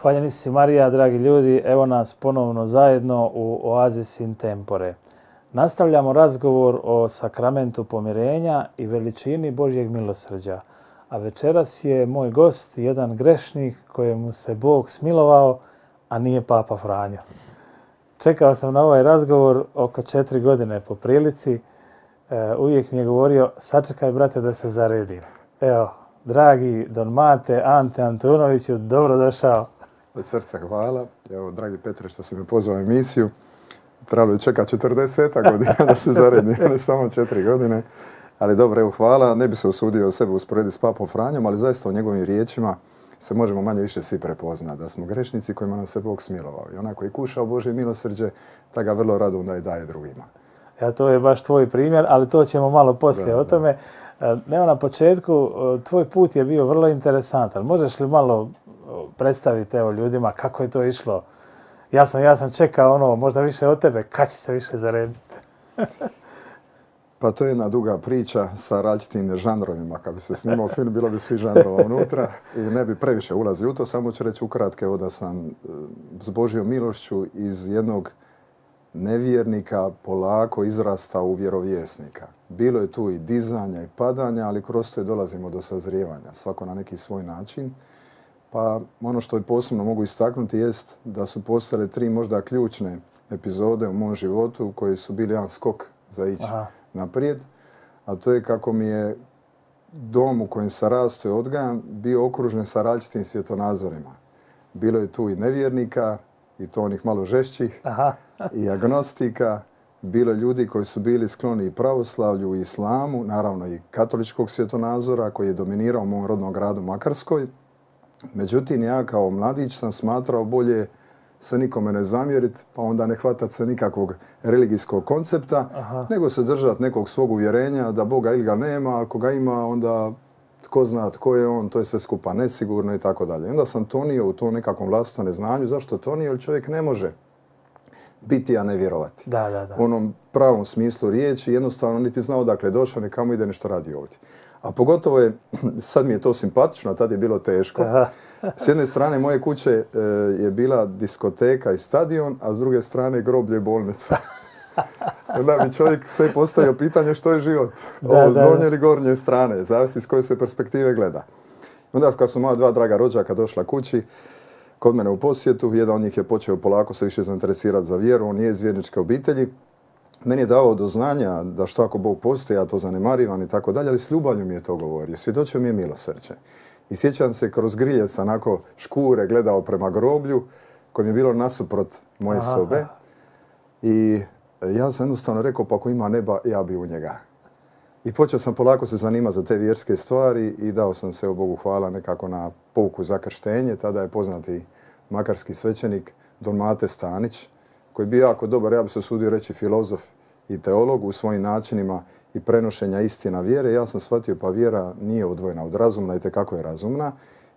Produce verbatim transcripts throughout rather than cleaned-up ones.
Hvaljeni si Marija, dragi ljudi, evo nas ponovno zajedno u Oasis in Tempore. Nastavljamo razgovor o sakramentu pomirenja i veličini Božjeg milosrđa. A večeras je moj gost jedan grešnik kojemu se Bog smilovao, a nije Papa Franjo. Čekao sam na ovaj razgovor oko četiri godine po prilici. E, uvijek mi je govorio, sačekaj brate da se zaredim. Evo, dragi Don Mate, Ante Antunoviću, dobrodošao. Od srca hvala. Evo, dragi Petre, što si me pozvao u emisiju. Trebalo je čekati četrdeset godina da se zaredim, ne samo četiri godine. Ali dobro, evo, hvala. Ne bi se usudio sebe usporediti s Papom Franjom, ali zaista u njegovim riječima se možemo manje više svi prepoznati. Da smo grešnici kojima nas se Bog smilovao. I onaj koji je kušao Božje milosrđe, ta ga vrlo rado onda i daje drugima. Ja, to je baš tvoj primjer, ali to ćemo malo poslije da, o tome. Da. Evo, na početku, tvoj put je bio vrlo interesantan. Možeš li malo predstaviti evo, ljudima kako je to išlo? Ja sam, ja sam čekao ono, možda više od tebe, kad će se više zarediti? Pa to je jedna duga priča sa različitim žanrovima. Kad bi se snimao film, bilo bi svi žanrova unutra i ne bi previše ulazio u to. Samo ću reći ukratko da sam s Božjom milošću iz jednog nevjernika polako izrastao u vjerovjesnika. Bilo je tu i dizanja i padanja, ali kroz to je dolazimo do sazrijevanja, svako na neki svoj način. Pa ono što je posebno mogu istaknuti jest da su postale tri možda ključne epizode u mom životu koji su bili jedan skok za ići Aha. naprijed. A to je kako mi je dom u kojem sam rastao i odgajan bio okružen sa različitim svjetonazorima. Bilo je tu i nevjernika, i to onih malo žešćih, Aha. i agnostika. Bilo je ljudi koji su bili skloni i pravoslavlju i islamu, naravno i katoličkog svjetonazora koji je dominirao u mom rodnom gradu Makarskoj. Međutim, ja kao mladić sam smatrao bolje se nikome ne zamjeriti, pa onda ne hvatati se nikakvog religijskog koncepta, Aha. nego se držati nekog svog uvjerenja da Boga ili ga nema, ako ga ima, onda tko zna tko je on, to je sve skupa nesigurno i tako dalje. Onda sam tonio u tom nekakvom vlastitom neznanju. Zašto tonio? Jer čovjek ne može biti, a ne vjerovati. Da, da, da. U onom pravom smislu riječi, jednostavno niti znao odakle je došao, ni kamo ide, nešto radi ovdje. A pogotovo je, sad mi je to simpatično, a tad je bilo teško. Aha. S jedne strane moje kuće e, je bila diskoteka i stadion, a s druge strane groblje i bolnica. Onda bi čovjek sve postavio pitanje što je život. Da, Ovo s donje ili gornje strane, zavisi s koje se perspektive gleda. Onda kad su moja dva draga rođaka došla kući, kod mene u posjetu, jedan od njih je počeo polako se više zainteresirati za vjeru, on je iz vjerničke obitelji. Meni je dao do znanja da što ako Bog postoji, ja to zanemarivam i tako dalje, ali s ljubavlju mi je to govorio. Svjedočio mi je milosrđe. I sjećam se kroz griljec onako škure gledao prema groblju koje mi je bilo nasuprot moje Aha. sobe. I ja sam jednostavno rekao, pa ako ima neba, ja bi u njega. I počeo sam polako se zanimati za te vjerske stvari i dao sam se, o Bogu hvala, nekako na pouku za krštenje. Tada je poznati makarski svećenik Don Mate Stanić, koji je bio jako dobar, ja bi se usudio reći, filozof i teolog u svojim načinima i prenošenja istina vjere. Ja sam shvatio, pa vjera nije odvojena od razumna i tekako je razumna.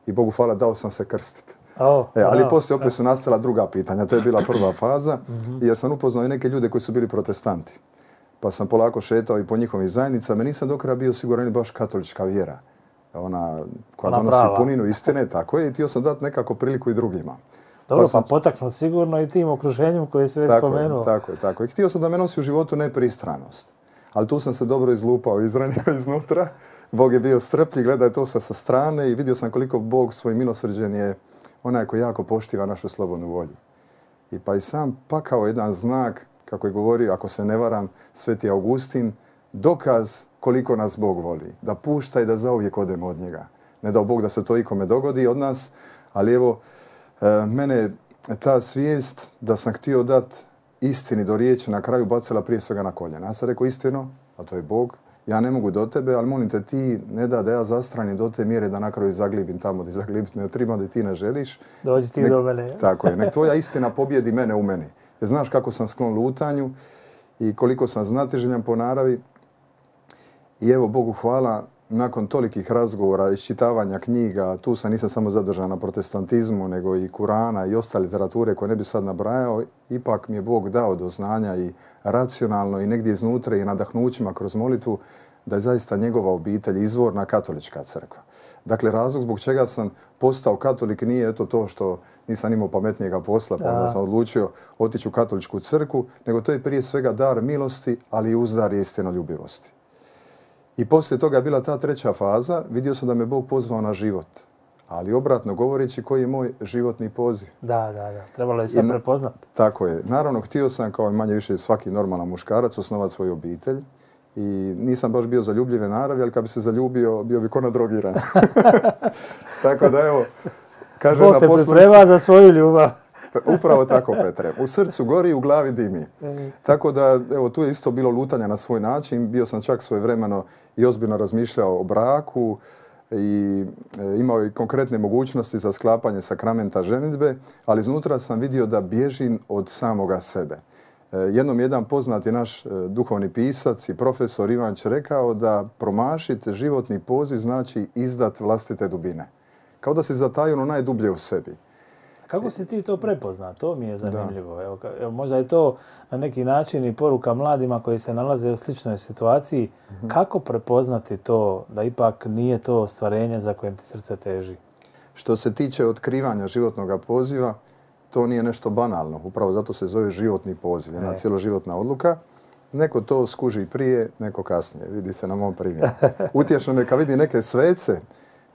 I Bogu hvala, dao sam se krstiti. Oh, e, ali wow. poslije opet su nastala druga pitanja. To je bila prva faza, jer sam upoznao i neke ljude koji su bili protestanti. Pa sam polako šetao i po njihovim zajednicama. Nisam do kraja bio siguran baš katolička vjera. Ona koja Ona donosi prava. puninu istine, tako je. I htio sam dati nekako priliku i drugima. Dobro, pa, sam... pa potaknut sigurno i tim okruženjem koje si već tako spomenuo. Je, tako je, tako je. Htio sam da me nosi u životu nepristranost. Ali tu sam se dobro izlupao, izranio iznutra. Bog je bio strpljiv, gledaj to sa, sa strane i vidio sam koliko Bog svojim milosrđem je onaj koji jako poštiva našu slobodnu volju. I pa i sam pakao jedan znak, kako je govorio, ako se ne varam, Sveti Augustin, dokaz koliko nas Bog voli. Da pušta i da zauvijek odemo od njega. Ne dao Bog da se to ikome dogodi od nas, ali evo, e, mene ta svijest da sam htio dati istini do riječi na kraju bacila prije svega na koljena. Ja sam rekao istinu, a to je Bog. Ja ne mogu do tebe, ali molim te, ti ne da da ja zastranim do te mjere da na kraju zaglibim tamo gdje zaglibiti ne treba, da ti ne želiš. Dođi ti nek, do mene. Tako je. Nek tvoja istina pobjedi mene u meni. Jer znaš kako sam sklon lutanju i koliko sam znatiželjan po naravi. I evo, Bogu hvala, nakon tolikih razgovora, iščitavanja knjiga, tu sam nisam samo zadržan na protestantizmu, nego i Kurana i ostale literature koje ne bi sad nabrajao, ipak mi je Bog dao do znanja i racionalno i negdje iznutra i nadahnućima kroz molitvu da je zaista njegova obitelj izvorna katolička crkva. Dakle, razlog zbog čega sam postao katolik nije eto to što nisam imao pametnijega posla, pa onda sam odlučio otići u katoličku crkvu, nego to je prije svega dar milosti, ali i uzdar istinoljubivosti. I poslije toga je bila ta treća faza, vidio sam da me Bog pozvao na život. Ali obratno govoreći, koji je moj životni poziv. Da, da, da. Trebalo je sve prepoznati. Tako je. Naravno, htio sam, kao i manje više svaki normalan muškarac, osnovati svoju obitelj. I nisam baš bio zaljubljive naravi, ali kad bi se zaljubio, bio bi ko nadrogiran. Tako da, evo, kaže Bog na te poslovici... priprema za svoju ljubav. Upravo tako, Petre. U srcu gori, u glavi dimi. Tako da, evo, tu je isto bilo lutanja na svoj način. Bio sam čak svojevremeno i ozbiljno razmišljao o braku i imao i konkretne mogućnosti za sklapanje sakramenta ženidbe, ali iznutra sam vidio da bježim od samoga sebe. Jednom jedan poznati naš duhovni pisac i profesor Ivanč rekao da promašiti životni poziv znači izdat vlastite dubine. Kao da si zatajio ono najdublje u sebi. Kako si ti to prepoznao? To mi je zanimljivo. Evo, evo, možda je to na neki način i poruka mladima koji se nalaze u sličnoj situaciji. Mm-hmm. Kako prepoznati to da ipak nije to ostvarenje za kojem ti srce teži? Što se tiče otkrivanja životnog poziva, to nije nešto banalno. Upravo zato se zove životni poziv, jedna cjeloživotna odluka. Neko to skuži prije, neko kasnije. Vidi se na mom primjeru. Utješno neka vidi neke svece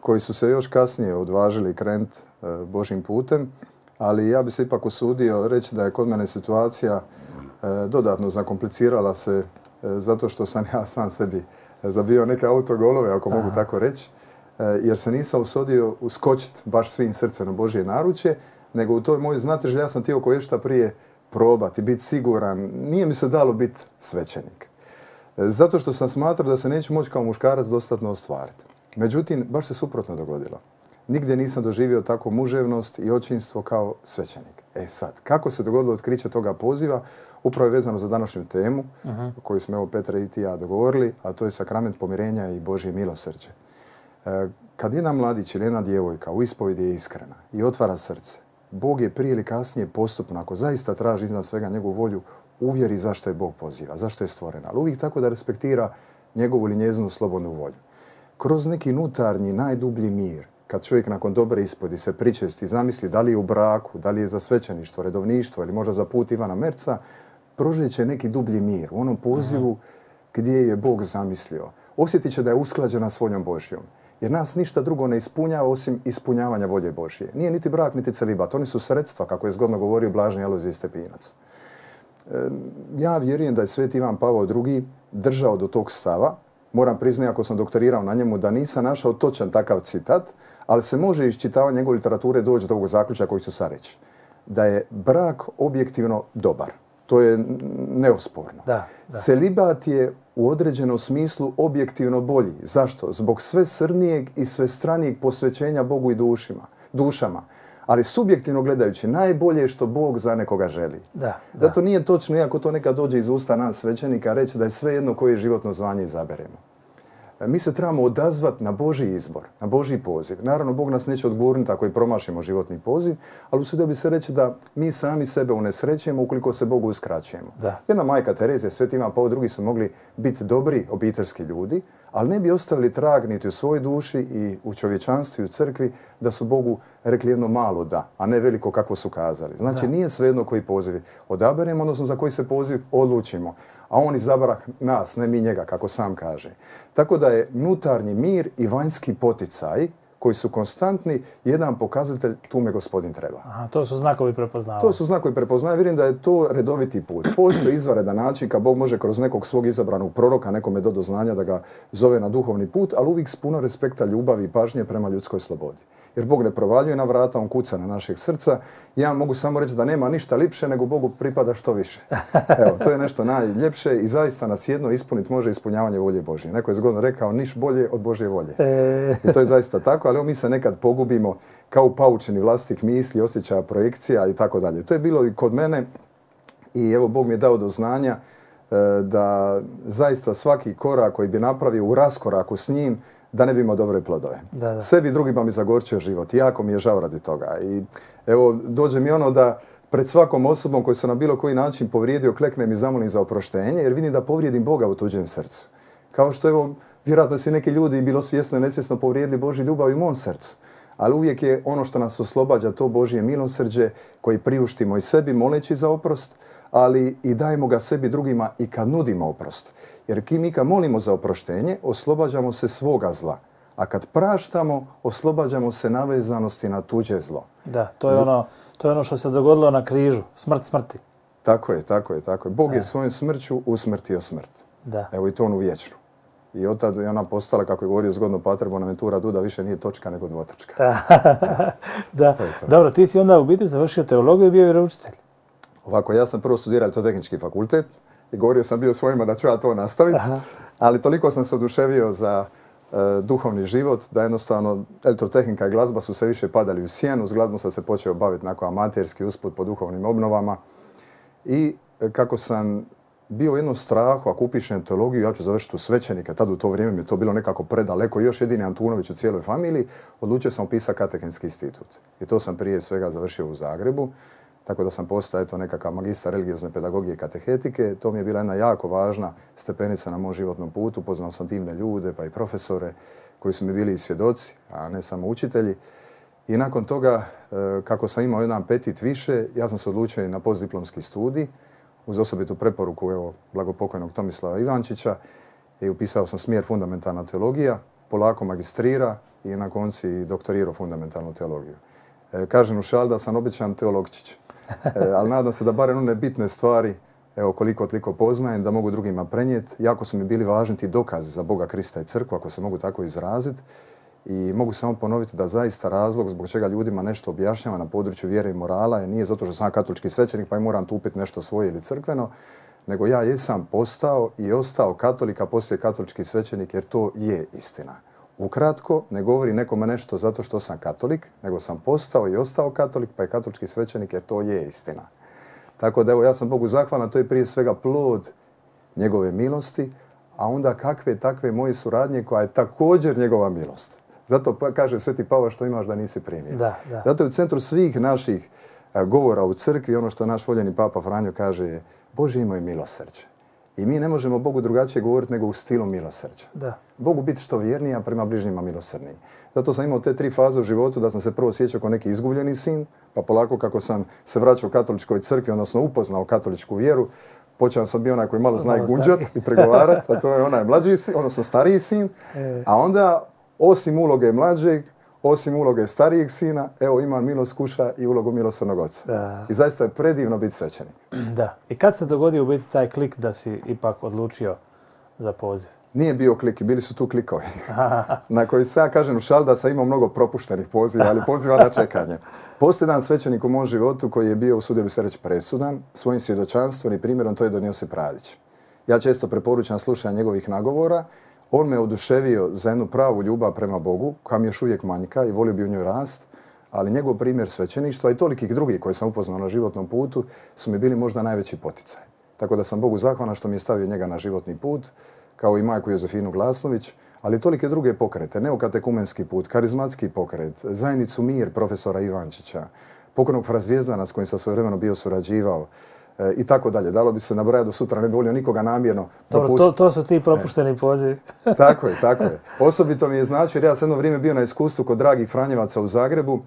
koji su se još kasnije odvažili krenuti e, Božjim putem, ali ja bi se ipak usudio reći da je kod mene situacija e, dodatno zakomplicirala se e, zato što sam ja sam sebi zabio neke autogolove, ako Aha. mogu tako reći, e, jer se nisam usudio uskočiti baš svim srcem na Božje naručje, nego u toj mojoj znatiželji ja sam htio koje šta prije probati, biti siguran. Nije mi se dalo biti svećenik. E, zato što sam smatrao da se neću moći kao muškarac dostatno ostvariti. Međutim, baš se suprotno dogodilo. Nigdje nisam doživio takvu muževnost i očinstvo kao svećenik. E sad, kako se dogodilo otkriće toga poziva, upravo je vezano za današnju temu, uh-huh. koju smo evo Petra i ti ja dogovorili, a to je sakrament pomirenja i Božje milosrđe. E, kad jedan mladić ili jedna djevojka u ispovjedi je iskrena i otvara srce, Bog je prije ili kasnije postupno, ako zaista traži iznad svega njegovu volju, uvjeri zašto je Bog poziva, zašto je stvorena. Ali uvijek tako da respektira njegovu ili njezinu slobodnu volju. Kroz neki unutarnji, najdublji mir, kad čovjek nakon dobre ispovjedi se pričesti, zamisli da li je u braku, da li je za svećeništvo, redovništvo ili možda za put Ivana Merca, prožeće neki dublji mir u onom pozivu Aha. gdje je Bog zamislio. Osjetit će da je usklađena s voljom Božjom. Jer nas ništa drugo ne ispunjava osim ispunjavanja volje Božje. Nije niti brak, niti celibat. Oni su sredstva, kako je zgodno govorio Blaženi Alojzije Stepinac. E, ja vjerujem da je Sveti Ivan Pavao drugi držao do tog stava. Moram priznati, ako sam doktorirao na njemu, da nisam našao točan takav citat, ali se može iz čitavanja njegove literature doći do ovog zaključka koji ću sad reći. Da je brak objektivno dobar. To je neosporno. Da, da. Celibat je u određenom smislu objektivno bolji. Zašto? Zbog sve srnijeg i sve stranijeg posvećenja Bogu i dušima, dušama. Ali subjektivno gledajući, najbolje je što Bog za nekoga želi. Da, da. Da to nije točno, iako to nekad dođe iz usta nas svećenika, reći da je sve jedno koje životno zvanje izaberemo. Mi se trebamo odazvati na Božji izbor, na Božji poziv. Naravno, Bog nas neće odgurniti ako i promašimo životni poziv, ali usudio bi se reći da mi sami sebe unesrećujemo ukoliko se Bogu uskraćujemo. Da. Jedna majka Terezija, Sveti Ivan Pavao drugi su mogli biti dobri obiteljski ljudi, ali ne bi ostavili trag niti u svojoj duši i u čovječanstvu i u crkvi da su Bogu rekli jedno malo da, a ne veliko kako su kazali. Znači, da. Nije svejedno koji poziv odaberemo, odnosno za koji se poziv odlučimo. A on izabra nas, ne mi njega, kako sam kaže. Tako da je unutarnji mir i vanjski poticaj koji su konstantni, jedan pokazatelj tu me Gospodin treba. Aha, to su znakovi prepoznavanja. To su znakovi prepoznavanja. Vjerujem da je to redoviti put. Postoji izvanredan način kad Bog može kroz nekog svog izabranog proroka nekome do do znanja da ga zove na duhovni put, ali uvijek s puno respekta, ljubavi i pažnje prema ljudskoj slobodi. Jer Bog ne provaljuje na vrata, on kuca na našeg srca. Ja mogu samo reći da nema ništa lipše nego Bogu pripada što više. Evo, to je nešto najljepše i zaista nas jedno ispuniti može ispunjavanje volje Božje. Neko je zgodno rekao niš bolje od Božje volje. I to je zaista tako, ali mi se nekad pogubimo kao paučeni vlastitih misli, osjećaja, projekcija i tako dalje. To je bilo i kod mene i evo Bog mi je dao do znanja da zaista svaki korak koji bi napravio u raskoraku s njim da ne bi imao dobre plodove. Da, da. Sebi drugima mi zagorčio život. Jako mi je žao radi toga. I evo, dođe mi ono da pred svakom osobom koji se na bilo koji način povrijedio, kleknem i zamolim za oproštenje, jer vidim da povrijedim Boga u tuđem srcu. Kao što evo, vjerojatno su neki ljudi bilo svjesno i nesvjesno povrijedili Božju ljubav i u mom srcu. Ali uvijek je ono što nas oslobađa to Božje milosrđe koji priuštimo i sebi moleći za oprost, ali i dajemo ga sebi drugima i kad nudimo oprost. Jer mi kad molimo za oproštenje, oslobađamo se svoga zla. A kad praštamo, oslobađamo se navezanosti na tuđe zlo. Da, to je ono, to je ono što se dogodilo na križu. Smrt smrti. Tako je, tako je, tako je. Bog je svojom smrću usmrtio smrt. Da. Evo i to onu vječnu. I od tada je ona postala, kako je govorio zgodno Pater Bonaventura Duda, više nije točka nego dvotočka. Da. To to. Dobro, ti si onda u biti završio teologiju i bio vjeroučitelj. Ovako, ja sam prvo studirao Elektrotehnički fakultet i govorio sam bio svojima da ću ja to nastaviti, ali toliko sam se oduševio za uh, duhovni život da jednostavno elektrotehnika i glazba su se više padali u sjenu. S glazbom sam se počeo baviti onako amaterski usput po duhovnim obnovama i kako sam bio u jednom strahu, ako upišem teologiju, ja ću završiti u svećenika. Tad u to vrijeme mi je to bilo nekako predaleko. Još jedini Antunović u cijeloj familiji. Odlučio sam upisati katehenski institut. I to sam prije svega završio u Zagrebu. Tako da sam postao eto, nekakav magistar religiozne pedagogije i katehetike. To mi je bila jedna jako važna stepenica na mom životnom putu. Poznao sam divne ljude, pa i profesore koji su mi bili i svjedoci, a ne samo učitelji. I nakon toga, kako sam imao jedan petit više, ja sam se odlučio na postdiplomski studij uz osobitu preporuku evo, blagopokojnog Tomislava Ivančića i upisao sam smjer fundamentalna teologija, polako magistrira i na konci i doktorirao fundamentalnu teologiju. E, kažem u šali da sam običan teologčić, e, ali nadam se da barem one bitne stvari, evo koliko toliko poznajem, da mogu drugima prenijeti. Jako su mi bili važni ti dokazi za Boga, Krista i crkvu, ako se mogu tako izraziti. I mogu samo ponoviti da zaista razlog zbog čega ljudima nešto objašnjava na području vjere i morala je nije zato što sam katolički svećenik pa i moram tupiti nešto svoje ili crkveno, nego ja jesam postao i ostao katolik, a poslije katolički svećenik jer to je istina. Ukratko, ne govori nekome nešto zato što sam katolik, nego sam postao i ostao katolik pa je katolički svećenik jer to je istina. Tako da evo ja sam Bogu zahvalan, to je prije svega plod njegove milosti, a onda kakve takve moje suradnje koja je također njegova milost. Zato kaže Sveti Pavao što imaš da nisi primio. Da, da. Zato je u centru svih naših govora u crkvi ono što naš voljeni Papa Franjo kaže je Bože imao je milosrđe. I mi ne možemo Bogu drugačije govoriti nego u stilu milosrđa. Da. Bogu biti što vjerniji, a prema bližnjima milosrdniji. Zato sam imao te tri faze u životu da sam se prvo osjećao kao neki izgubljeni sin, pa polako kako sam se vraćao u katoličkoj crkvi, odnosno upoznao katoličku vjeru, počeo sam bio onaj koji malo zna i gunđat i pregovarati, a to je onaj mlađi sin, odnosno stariji sin, a onda osim uloge mlađeg, osim uloge starijeg sina, evo imam milost kuša i ulogu milosrdnog oca. Da. I zaista je predivno biti svećenik. Da. I kad se dogodio u biti taj klik da si ipak odlučio za poziv? Nije bio klik, bili su tu klikovi. Na koji se ja kažem u šali da sam imao mnogo propuštenih poziva, ali poziva na čekanje. Postoji jedan svećenik u mom životu koji je bio, usudio bi se reći, presudan svojim svjedočanstvom i primjerom, to je Don Josip Radić. Ja često preporučam slušanje njegovih nagovora. On me oduševio za jednu pravu ljubav prema Bogu, koja mi još uvijek manjka i volio bi u njoj rast, ali njegov primjer svećeništva i tolikih drugih koji sam upoznao na životnom putu su mi bili možda najveći poticaj. Tako da sam Bogu zahvalan što mi je stavio njega na životni put, kao i majku Jozefinu Glasnović, ali tolike druge pokrete, neokatekumenski put, karizmatski pokret, zajednicu Mir profesora Ivančića, pokojnog fra Zvijezdana s kojim sam svojevremeno bio surađivao, e, i tako dalje. Dalo bi se nabrajati do sutra, ne bi volio nikoga namjerno Dobro, to, to su ti propušteni pozivi. Tako je, tako je. Osobito mi je znači, jer ja sam jedno vrijeme bio na iskustvu kod dragih Franjevaca u Zagrebu.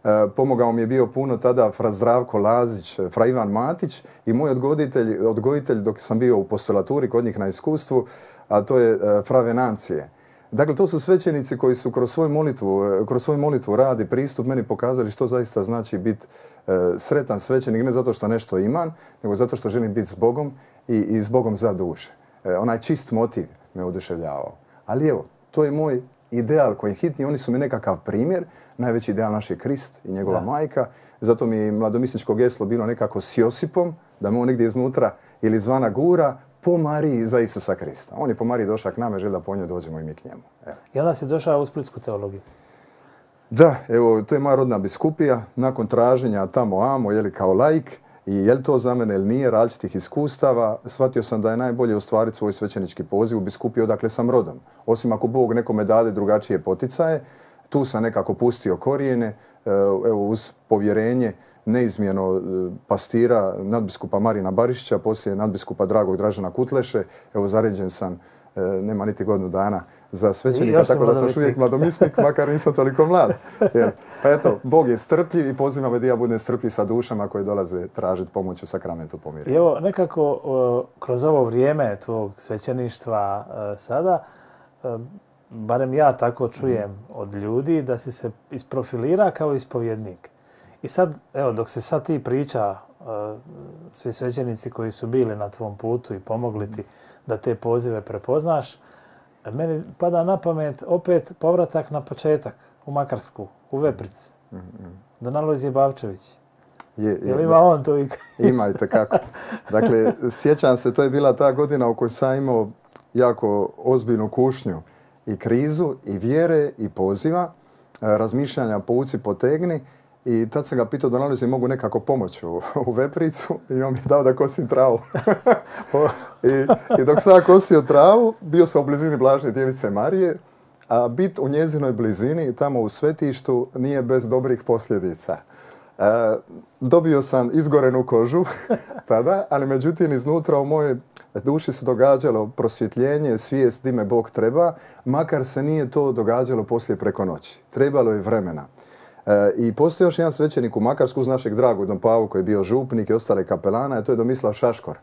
E, pomogao mi je bio puno tada fra Zdravko Lazić, fra Ivan Matić i moj odgojitelj, odgojitelj dok sam bio u postolaturi kod njih na iskustvu, a to je e, fra Venancije. Dakle, to su svećenici koji su kroz svoju molitvu, kroz svoju molitvu rad i pristup meni pokazali što zaista znači biti e, sretan svećenik, ne zato što nešto imam, nego zato što želim biti s Bogom i, i s Bogom za duše. E, onaj čist motiv me oduševljavao. Ali evo, to je moj ideal koji je hitni, oni su mi nekakav primjer, najveći ideal naš je Krist i njegova da. majka, zato mi je mladomisničko geslo bilo nekako s Josipom, da me on negdje iznutra ili zvana gura, po Mariji za Isusa Krista. On je po Mariji došao k nama, želi da po njoj dođemo i mi k njemu. Evo. I onda si došao u splitsku teologiju. Da, evo, to je moja rodna biskupija. Nakon traženja tamo amo, jeli kao laik, i je li to za mene ili nije, različitih iskustava, shvatio sam da je najbolje ostvariti svoj svećenički poziv u biskupiji odakle sam rodom. Osim ako Bog nekome dade drugačije poticaje, tu sam nekako pustio korijene, evo, uz povjerenje neizmjeno pastira nadbiskupa Marina Barišića, poslije nadbiskupa dragog Dražena Kutleše. Evo, zaređen sam nema niti godinu dana za svećenika, tako da sam još uvijek mladomisnik, makar nisam toliko mlad. Jer, pa eto, Bog je strpljiv i poziva me da ja budem strpljiv sa dušama koje dolaze tražiti pomoć u sakramentu pomirenja. I evo, nekako kroz ovo vrijeme tvog svećeništva sada, barem ja tako čujem od ljudi, da si se isprofilira kao ispovjednik. I sad, evo, dok se sad ti priča, svi svećenici koji su bili na tvom putu i pomogli ti da te pozive prepoznaš, meni pada na pamet opet povratak na početak u Makarsku, u Vepric. Don Alojzije Bavčević. Je, je, je li ima on to i... Ima i tekako. Dakle, sjećam se, to je bila ta godina u kojoj sam imao jako ozbiljnu kušnju i krizu, i vjere, i poziva, razmišljanja povuci potegni. I tad sam ga pitao da nalazi mogu nekako pomoći u, u Vepricu i on mi je dao da kosim travu. I, I dok sam kosio travu, bio sam u blizini Blažne Djevice Marije, a bit u njezinoj blizini, tamo u svetištu, nije bez dobrih posljedica. E, dobio sam izgorenu kožu tada, ali međutim iznutra u mojoj duši se događalo prosvjetljenje, svijest di me Bog treba, makar se nije to događalo poslije preko noći. Trebalo je vremena. E, I postoji još jedan svećenik u Makarsku uz našeg dragog Don Pavu koji je bio župnik i ostale kapelana, a to je Domislav Šaškor,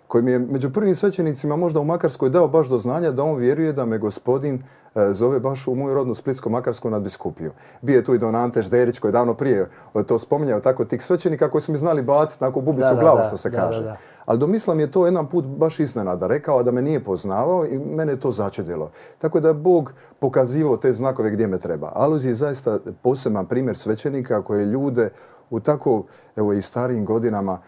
koji mi je među prvim svećenicima možda u Makarskoj dao baš do znanja da on vjeruje da me gospodin e, zove baš u moju rodnu Splitsko-Makarsku nadbiskupiju. Bio je tu i Don Ante Žderić koji je davno prije to spominjao, tako tih svećenika koji su mi znali baciti na bubicu u glavu, što se kaže. Da, da, da. Ali Domislav mi je to jedan put baš iznenada rekao da me nije poznavao i mene je to začudilo. Tako da je Bog pokazivao te znakove gdje me treba. Alojzije je zaista poseban primjer svećenika koji ljude u tako, evo i starijim godinama,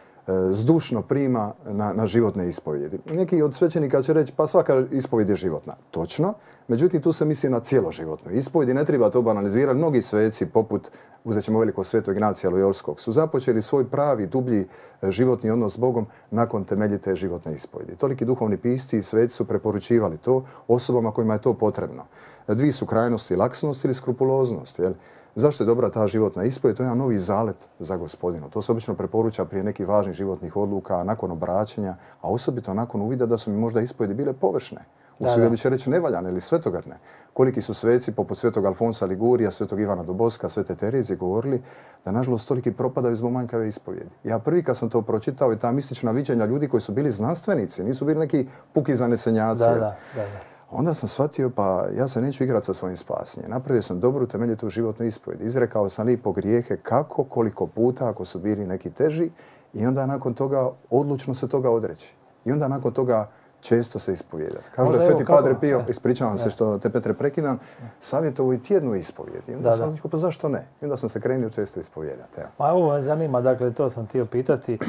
zdušno prima na, na životne ispovjedi. Neki od svećenika će reći pa svaka ispovjed je životna. Točno, međutim tu se misli na cjeloživotnu ispovjed i ne treba to banalizirati. Mnogi sveci, poput, uzet ćemo veliko sveto Ignacija Lojolskog, su započeli svoj pravi, dublji životni odnos s Bogom nakon temeljite životne ispovjedi. Toliki duhovni pisci i sveci su preporučivali to osobama kojima je to potrebno. Dvije su krajnosti, laksnost ili skrupuloznost. Jel? Zašto je dobra ta životna ispovjed? To je jedan novi zalet za Gospodina. To se obično preporuča prije nekih važnih životnih odluka, nakon obraćanja, a osobito nakon uvida da su mi možda ispovjedi bile površne. Usudio bi će reći nevaljane ili svetogarne. Koliki su sveci poput svetog Alfonsa Ligurija, svetog Ivana Doboska, svete Terezije govorili da nažalost toliki propadaju zbog manjkave ispovjedi. Ja prvi kad sam to pročitao i ta mistična viđenja ljudi koji su bili znanstvenici, nisu bili neki puki zanesenjaci. Da, da, da, da. Onda sam shvatio, pa ja se neću igrati sa svojim spasenjem. Napravio sam dobru temeljitu životnu ispovjed. Izrekao sam lipo grijehe kako, koliko puta, ako su bili neki teži. I onda nakon toga odlučno se toga odreći. I onda nakon toga često se ispovijedati. Kažu da Sveti Padre Pio, ispričavam se što te Petre prekidam, savjetovo i tjednu ispovijed. I onda da, sam rekao, pa zašto ne? I onda sam se krenio često ispovijedati. Ja. Ma ovo me zanima, dakle, to sam htio pitati,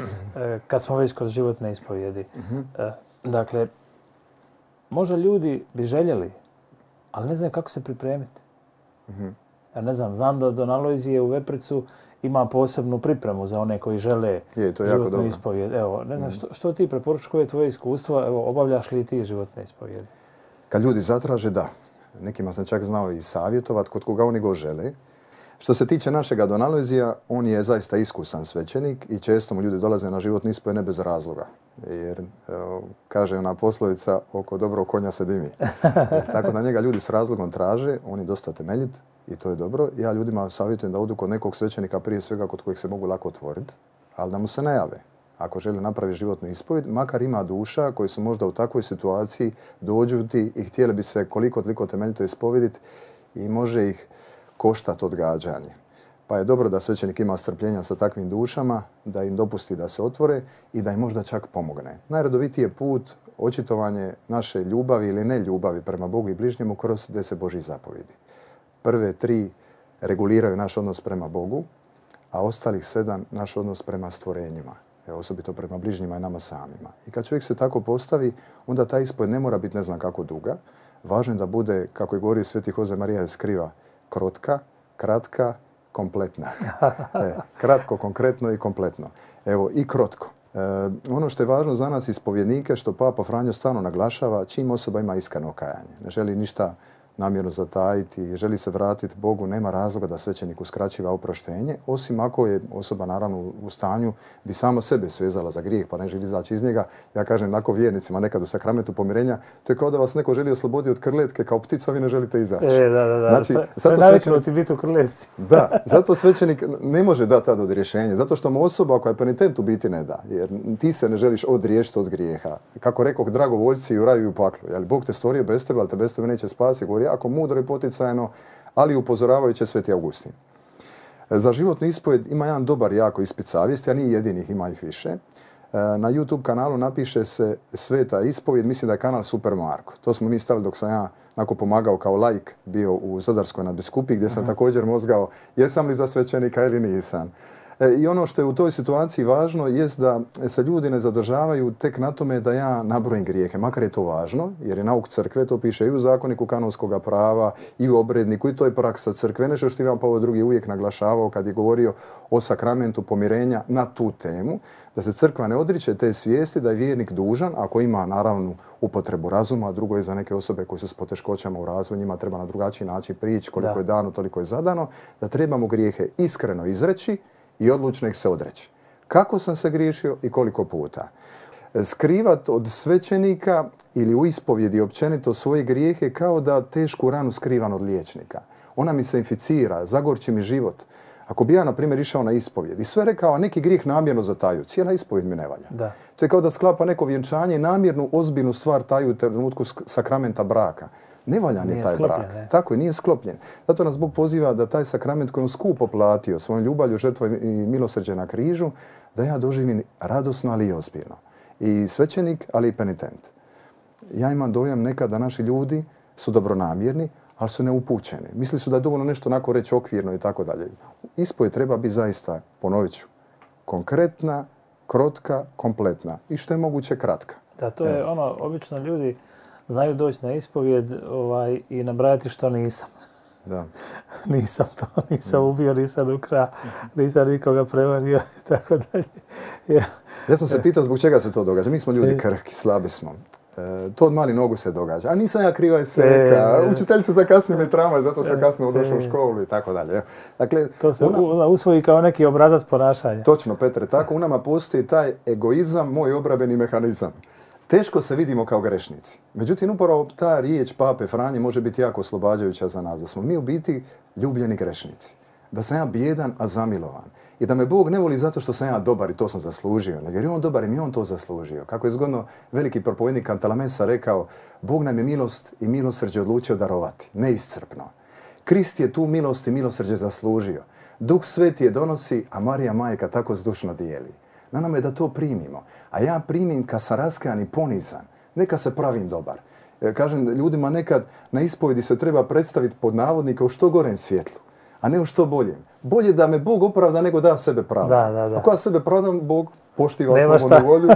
kad smo već kroz životne ispovijedi. Uh-huh. Dakle, možda ljudi bi željeli, ali ne znam kako se pripremiti. Uh-huh. Ja ne znam, znam da Don Alojzije u Vepricu ima posebnu pripremu za one koji žele je, to je životnu ispovijed. Evo, ne znam, što, što ti preporučuješ, koje je tvoje iskustvo? Evo, obavljaš li ti životne ispovijede? Kad ljudi zatraže, da. Nekima sam čak znao i savjetovat kod koga oni go žele. Što se tiče našega Don Alojzija, on je zaista iskusan svećenik i često mu ljudi dolaze na životnu ispovijed ne bez razloga. Jer, evo, kaže ona poslovica, oko dobrog konja se dimi. Jer, tako da njega ljudi s razlogom traže, on je dosta temeljit i to je dobro. Ja ljudima savjetujem da odu kod nekog svećenika, prije svega kod kojeg se mogu lako otvoriti, ali da mu se ne jave. Ako želi napraviti životnu ispovijed, makar ima duša koji su možda u takvoj situaciji dođuti i htjeli bi se koliko toliko temeljito ispovijediti i može ih koštati odgađanje. Pa je dobro da svećenik ima strpljenja sa takvim dušama, da im dopusti da se otvore i da im možda čak pomogne. Najredovitiji je put očitovanje naše ljubavi ili ne ljubavi prema Bogu i bližnjemu kroz deset Božjih zapovjedi. Prve tri reguliraju naš odnos prema Bogu, a ostalih sedam naš odnos prema stvorenjima, osobito prema bližnjima i nama samima. I kad čovjek se tako postavi, onda ta ispovijed ne mora biti ne znam kako duga. Važno je da bude, kako je govorio Sveti Jose Marija Eskriva, krotka, kratka, kompletna. E, kratko, konkretno i kompletno. Evo, i krotko. E, ono što je važno za nas ispovjednike, što Papa Franjo stalno naglašava, čim osoba ima iskreno kajanje. Ne želi ništa namjerno zatajiti i želi se vratiti Bogu, nema razloga da svećenik uskraćiva oproštenje, osim ako je osoba naravno u stanju bi samo sebe svezala za grijeh pa ne želi izaći iz njega. Ja kažem onako vjernicima nekad u sakramentu pomirenja, to je kao da vas neko želi osloboditi od krletke kao ptica, vi ne želite izaći. E, da, da, da. Znači, to, zato to je naviknuti biti u krletci. Da, zato svećenik ne može dati tada odrješenje, zato što mu osoba koja je penitent u biti ne da, jer ti se ne želiš odriješiti od grijeha. Kako rekao, dragovoljci u raju i u paklu. Jel, Bog te stvorio bez tebe, ali te bez tebe neće spasiti. Govori jako mudro i poticajno, ali upozoravajuće Sveti Augustin. Za životnu ispovjed ima jedan dobar jako ispit savjesti, a nije jedinih, ima ih više. Na YouTube kanalu napiše se Sveta ispovjed, mislim da je kanal Super Marko. To smo mi stavili dok sam ja onako pomagao kao laik bio u Zadarskoj nadbiskupiji gdje sam uh-huh. također mozgao jesam li za svećenika ili nisam. E, I ono što je u toj situaciji važno jest da se ljudi ne zadržavaju tek na tome da ja nabrojim grijehe, makar je to važno, jer je nauk crkve, to piše i u zakoniku kanonskog prava, i u obredniku, i to je praksa crkve. Nešto što Ivan Pavao drugi uvijek naglašavao kad je govorio o sakramentu pomirenja na tu temu, da se crkva ne odriče te svijesti, da je vjernik dužan, ako ima naravno upotrebu razuma, a drugo je za neke osobe koje su s poteškoćama u razvoju, njima treba na drugačiji način prići, koliko da. je dano, toliko je zadano, da trebamo grijehe iskreno izreći i odlučno ih se odreći. Kako sam se griješio i koliko puta? Skrivat od svećenika ili u ispovjedi općenito svoje grijehe kao da tešku ranu skrivam od liječnika. Ona mi se inficira, zagorči mi život. Ako bi ja, na primjer, išao na ispovjed i sve rekao, a neki grijeh namjerno zataju, cijela ispovjed mi ne valja. Da. To je kao da sklapa neko vjenčanje i namjernu ozbiljnu stvar taju u trenutku sakramenta braka. Ne valja ni taj sklopljen, brak. Ne. Tako je, nije sklopljen. Zato nas Bog poziva da taj sakrament koji on skupo platio svojom ljubavlju, žrtvom i milosrđe na križu, da ja doživim radosno, ali i ozbiljno. I svećenik, ali i penitent. Ja imam dojam nekad da naši ljudi su dobronamjerni, ali su neupućeni. Misli su da je dovoljno nešto onako reći okvirno i tako dalje. Ispovjed treba biti zaista, ponovit ću, konkretna, krotka, kompletna i što je moguće kratka. Da, to je Evo. ono, obično ljudi znaju doći na ispovjed ovaj, i nabrajati što nisam. Da. Nisam to, nisam ubio, nisam ukrao, nisam nikoga prevario i tako dalje. Ja. ja sam se pitao zbog čega se to događa. Mi smo ljudi krhki, slabi smo. E, to od mali nogu se događa. A nisam ja kriva je seka. E, Učiteljica zakasnije me tramvaj, zato sam kasno došao u školu i tako dalje. Dakle, to se una... usvoji kao neki obrazac ponašanja. Točno, Petre. Tako u nama postoji taj egoizam, moj obrambeni mehanizam. Teško se vidimo kao grešnici. Međutim, upravo ta riječ Pape Franje može biti jako oslobađajuća za nas. Da smo mi u biti ljubljeni grešnici. Da sam ja bijedan, a zamilovan. I da me Bog ne voli zato što sam ja dobar i to sam zaslužio. Nego jer je on dobar i mi on to zaslužio. Kako je zgodno veliki propovednik Cantalamessa rekao, Bog nam je milost i milosrđe odlučio darovati. Neiscrpno. Krist je tu milost i milosrđe zaslužio. Duh Sveti je donosi, a Marija Majka tako zdušno dijeli. Na nama je da to primimo. A ja primim kad sam raskajan i ponizan. Neka se pravim dobar. E, kažem ljudima nekad na ispovjedi se treba predstaviti pod navodnika u što gorem svjetlu, a ne u što boljem. Bolje da me Bog opravda nego da sebe pravda. Da, da, da. Ako ja sebe pravdam, Bog poštiva slobodnu volju.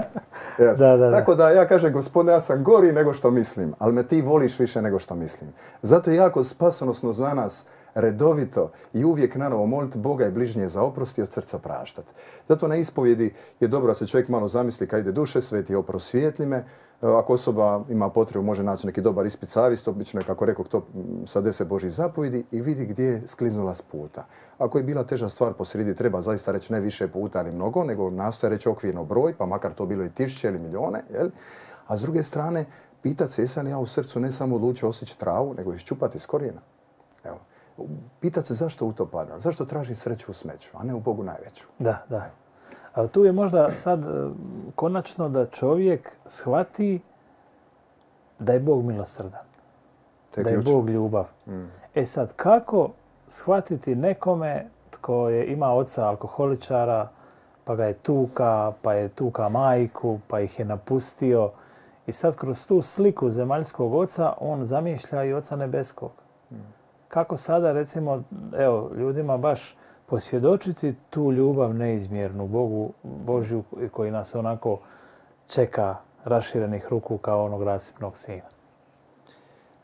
Ja. Da, da, Tako da ja kažem, Gospodine, ja sam gori nego što mislim, ali me ti voliš više nego što mislim. Zato je jako spasonosno za nas redovito i uvijek nanovo moliti Boga i bližnje za oprost i od srca praštati. Zato na ispovjedi je dobro da se čovjek malo zamisli kad ide duše sveti, oprosvijetli me. Ako osoba ima potrebu, može naći neki dobar ispit savjesti, obično je, kako rekao, to sa deset Božjih zapovjedi i vidi gdje je skliznula s puta. Ako je bila teža stvar posrijedi, treba zaista reći ne više puta ali mnogo, nego nastoje reći okvirno broj, pa makar to bilo i tisuće ili milijone. Jel? A s druge strane, pitati se jesam li ja u srcu ne samo odlučio osjeći travu, nego iščupati s korijena. Evo. Pitati se zašto u to pada, zašto traži sreću u smeću, a ne u Bogu najveću. Da, da. A tu je možda sad konačno da čovjek shvati da je Bog milosrdan, Te da ključ. je Bog ljubav. Mm. E sad, kako shvatiti nekome tko je ima oca alkoholičara, pa ga je tuka, pa je tuka majku, pa ih je napustio i sad kroz tu sliku zemaljskog oca on zamišlja i oca nebeskog. Mm. Kako sada, recimo, evo, ljudima baš posvjedočiti tu ljubav neizmjernu Bogu, Božju koji nas onako čeka raširenih ruku kao onog rasipnog sina?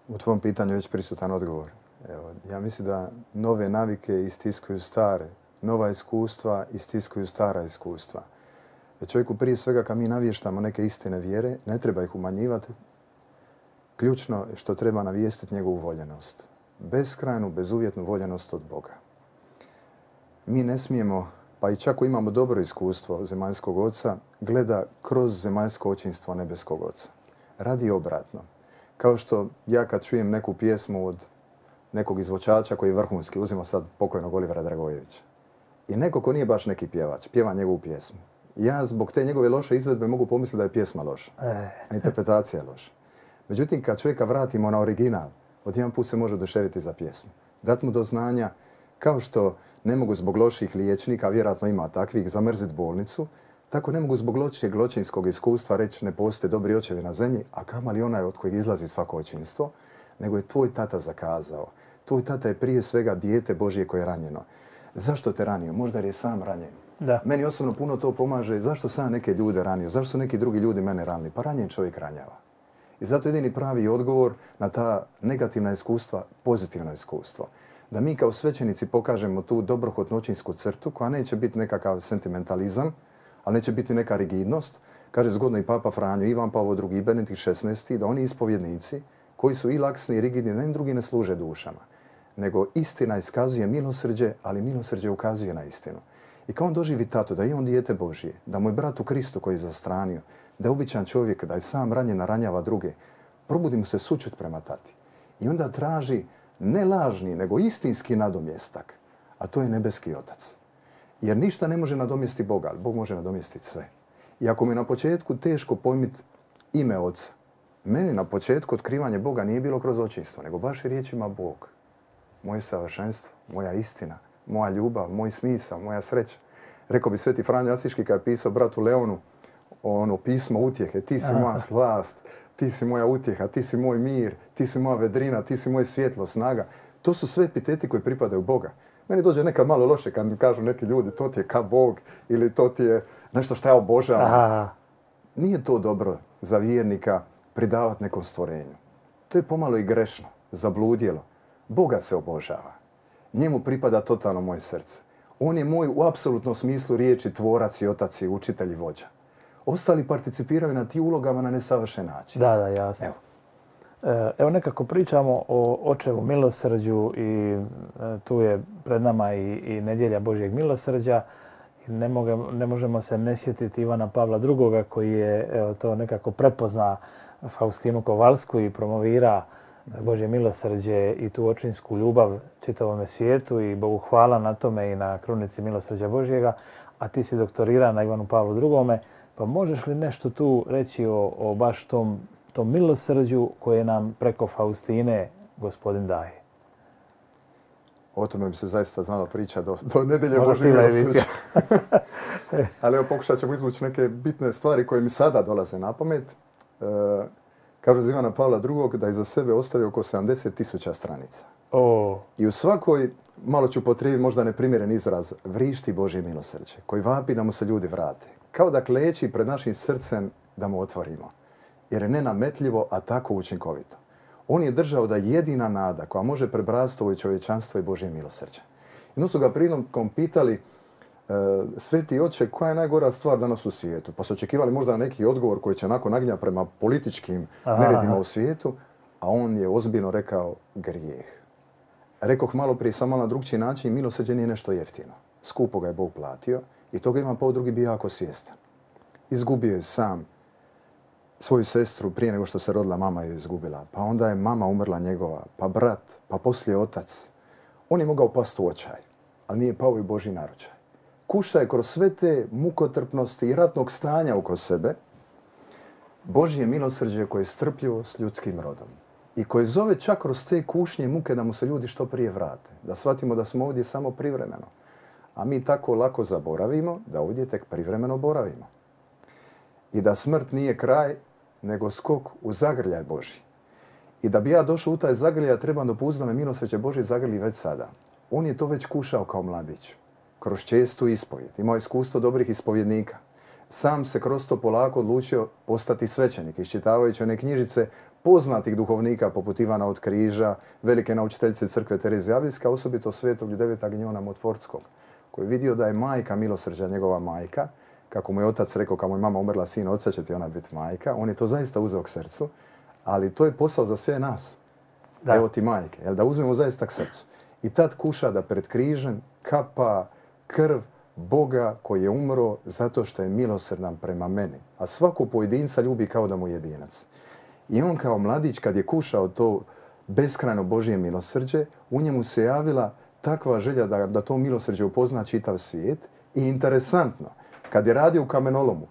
U tvom pitanju je već prisutan odgovor. Evo, ja mislim da nove navike istiskuju stare, nova iskustva istiskuju stara iskustva. Čovjeku prije svega kad mi navještamo neke istine vjere, ne treba ih umanjivati, ključno je što treba navijestiti njegovu voljenost. Beskrajnu, bezuvjetnu voljenost od Boga. Mi ne smijemo, pa i čak imamo dobro iskustvo zemaljskog oca, gleda kroz zemaljsko očinstvo nebeskog oca. Radi obratno. Kao što ja kad čujem neku pjesmu od nekog izvođača koji je vrhunski, uzimo sad pokojnog Olivera Dragojevića. I neko ko nije baš neki pjevač, pjeva njegovu pjesmu. Ja zbog te njegove loše izvedbe mogu pomisliti da je pjesma loša, a interpretacija je loša. Međutim, kad čovjeka vratimo na original, odjedan put se može oduševiti za pjesmu. Dat mu do znanja, kao što ne mogu zbog loših liječnika, vjerojatno ima takvih, zamrziti bolnicu, tako ne mogu zbog lošeg ločinskog iskustva reći ne postoje dobri očevi na zemlji, a kamali onaj od kojeg izlazi svako očinstvo, nego je tvoj tata zakazao. Tvoj tata je prije svega dijete Božje koje je ranjeno. Zašto te ranio? Možda jer je sam ranjen. Da. Meni osobno puno to pomaže. Zašto sam neke ljude ranio? Zašto su neki drugi ljudi mene ranili? Pa ranjen čovjek ranjava. I zato jedini pravi odgovor na ta negativna iskustva, pozitivno iskustvo. Da mi kao svećenici pokažemo tu dobrohotnu očinsku crtu koja neće biti nekakav sentimentalizam, ali neće biti neka rigidnost. Kaže zgodno i Papa Franjo, Ivan Pavao drugi, Benedikt šesnaesti, da oni ispovjednici koji su i laksni i rigidni, da im drugi ne služe dušama. Nego istina iskazuje milosrđe, ali milosrđe ukazuje na istinu. I kao on doživi tato, da je on dijete Božije, da mu je brat u Kristu koji je zastranio, da je običan čovjek, da je sam ranjen, ranjava druge, probudi mu se sućut prema tati. I onda traži ne lažni, nego istinski nadomjestak, a to je nebeski otac. Jer ništa ne može nadomjestiti Boga, ali Bog može nadomjestiti sve. I ako mi je na početku teško pojmiti ime oca, meni na početku otkrivanje Boga nije bilo kroz očinstvo, nego baš i riječima Bog. Moje savršenstvo, moja istina, moja ljubav, moj smisao, moja sreća. Rekao bi Sveti Franjo Asiški kad je pisao bratu Leonu ono pismo utjehe, ti si moja slast, ti si moja utjeha, ti si moj mir, ti si moja vedrina, ti si moje svjetlo, snaga. To su sve epiteti koji pripadaju Boga. Meni dođe nekad malo loše kad mi kažu neki ljudi to ti je ka Bog ili to ti je nešto što ja obožavam. Aha. Nije to dobro za vjernika pridavati nekom stvorenju. To je pomalo i grešno, zabludjelo. Boga se obožava. Njemu pripada totalno moje srce. On je moj u apsolutnom smislu riječi tvorac i otac i učitelj i vođa. Ostali participiraju na ti ulogama na nesavršen način. Da, da, jasno. Evo. Evo nekako pričamo o očevu milosrđu i tu je pred nama i, i nedjelja Božjeg milosrđa. Ne, moge, ne možemo se ne sjetiti Ivana Pavla drugoga koji je evo, to nekako prepozna Faustinu Kovalsku i promovira Božje milosrđe i tu očinsku ljubav čitavome svijetu i Bogu hvala na tome i na krunici milosrđa Božjega. A ti si doktorira na Ivanu Pavlu drugome. Pa možeš li nešto tu reći o, o baš tom, tom milosrđu koje nam preko Faustine Gospodin daje? O tome bi se zaista znalo priča do, do nedelje Božjeg milosrđa. Ali evo pokušat ćemo izvući neke bitne stvari koje mi sada dolaze na pamet. E, kažu za Ivana Pavla drugog da je za sebe ostavio oko sedamdeset tisuća stranica. Oh. I u svakoj, malo ću potrijebiti možda neprimjeren izraz, vrišti Božje milosrđe, koji vapi da mu se ljudi vrate. Kao da kleči pred našim srcem da mu otvorimo. Jer je nenametljivo, a tako učinkovito. On je držao da jedina nada koja može prebrasti ovo čovječanstvo je Božje milosrđe. Jedno su ga prilikom pitali e, Sveti oče, koja je najgora stvar danas u svijetu? Pa su očekivali možda neki odgovor koji će onako naginjati prema političkim neredima u svijetu, a on je ozbiljno rekao grijeh. Rekoh malo prije samo na drugčiji način, milosrđe nije nešto jeftino. Skupo ga je Bog platio i toga Ivan Pavao drugi bio jako svjestan. Izgubio je sam svoju sestru prije nego što se rodila, mama je izgubila. Pa onda je mama umrla njegova, pa brat, pa poslije otac. On je mogao pasti u očaj, ali nije pao i Božji naručaj. Kuša je kroz sve te mukotrpnosti i ratnog stanja oko sebe Božje milosrđe koje je strpljivo s ljudskim rodom. I koje zove čak kroz te kušnje muke da mu se ljudi što prije vrate. Da shvatimo da smo ovdje samo privremeno. A mi tako lako zaboravimo da ovdje tek privremeno boravimo. I da smrt nije kraj, nego skok u zagrljaj Božji. I da bi ja došao u taj zagrljaj, trebam dopustiti da me milosrđe Božje zagrli već sada. On je to već kušao kao mladić. Kroz čestu ispovjed. Imao iskustvo dobrih ispovjednika. Sam se kroz to polako odlučio postati svećenik, iščitavajući one knjižice poznatih duhovnika poput Ivana od Križa, velike naučiteljice crkve Terezije Avlijske, osobito svetog Ljudevita Gnjona Motvorskog, koji je vidio da je majka milosrđa njegova majka, kako mu je otac rekao, kad mu je mama umrla sin, oca će ti ona biti majka. On je to zaista uzeo k srcu, Ali to je posao za sve nas. Da. Evo ti majke, jel, da uzmemo zaista k srcu. I tad kuša da pred križem kapa krv Boga koji je umro zato što je milosrdan prema meni. A svako pojedinca ljubi kao da mu je jedinac. I on kao mladić kad je kušao to beskrajno Božje milosrđe, u njemu se javila takva želja da, da to milosrđe upozna čitav svijet. I interesantno, kad je radio u kamenolomu,